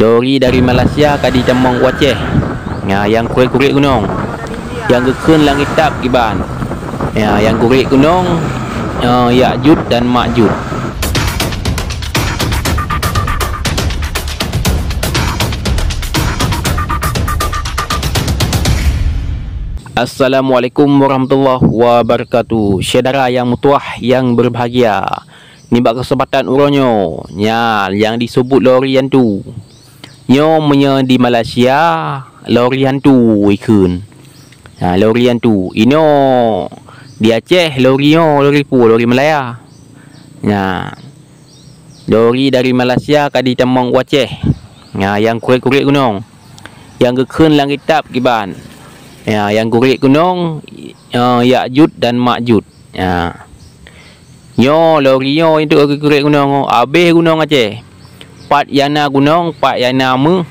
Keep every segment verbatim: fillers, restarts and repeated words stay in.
Lori dari Malaysia ka jitamong u Aceh. Nya, nyang kurek-kurek gunong. Nyang geukheun langét tap kiban. Nya, nyang kurek gunong, eh, Yakjud dan Makjud. Assalamualaikum warahmatullahi wabarakatuh. Syedara nyang meutuwah nyang berbahagia. Nibak keuseumpatan uroe nyoe, nya nyang jiseubut lori hantu. Nyoe meunyoe di Malaysia, lori hantu jikheun. Ha, lori hantu. Inoe di Aceh, lori nyoe, lori peue, lori Malaya. Nya, lori dari Malaysia ka jitamong u Aceh. Nya, nyang kurek-kurek gunong. Nyang geukheun langét tap kiban. Nya, nyang kurek gunong, eh, Yakjud dan Makjud. Nya. Nyoe lori nyoe untuk kurek gunong, abéh gunong Aceh. Pat nyang na gunong, pat nyang na méuh,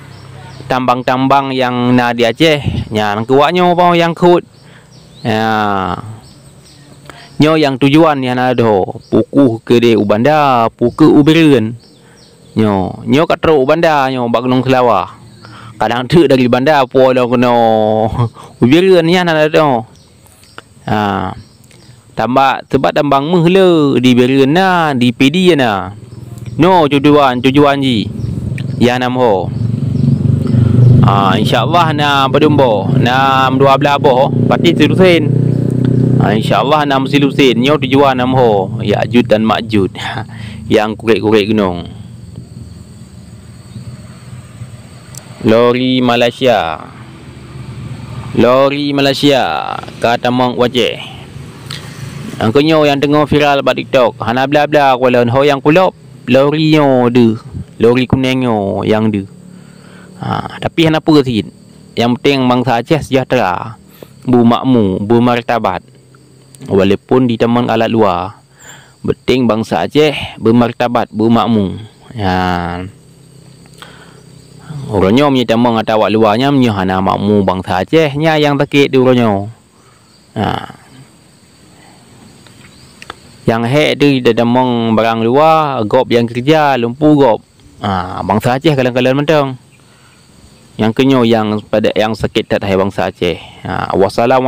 tambang-tambang nyang na di Aceh, nyan keuwak nyoe boh nyang khot. Nya. Nyoe nyang tujuan nyang na dho, peu kheueh keudeh u Banda, peu kheueh u Bireuen. Nyoe, nyoe ka trok u Banda nyoe bak Gunong Seulawah. Kadang teuk dari Banda po lom keunoe u Bireuen nyan na dho. Ha. Tambak, sebab tambang méuh le di Bireuen na, di Pidie na. Nyoe tujuan, tujuan jih. Nyang nam ho. Ha, insya Allah na padum boh, na dua blaih boh, pati silusen. Ha, insya Allah na silusen. Nyoe tujuan nam ho, Yakjud dan Makjud. Nyang kurek-kurek gunong. Lori Malaysia. Lori Malaysia ka tamong u Aceh. Nyang keu nyoe nyang teungoh viral bak TikTok, hana bla-bla kulon ho nyang kulop, lori nyoe deuh, lori kuneng nyoe nyang deuh. Ha, tapi hana peue cit. Nyang penting bansa Aceh sejahtera, beumakmu, beumartabat. Walaupun jitamong alat luwa, penting bansa Aceh beumartabat, beumakmu. Nyan. Uroe nyoe meunyoe tamong ata awak luwa nyan, meunyoe hana makmu bansa Aceh, nyan nyang sakét di uroe nyoe. Ha. Nyang hék teuh jitamong barang luwa, gob nyang keureuja, lumpu gob. Ah, bansa Aceh kalon-kalon mantong. Nyang keu nyoe nyang pada, nyang sakét that hai bansa Aceh. Ah, wassalamualaikum.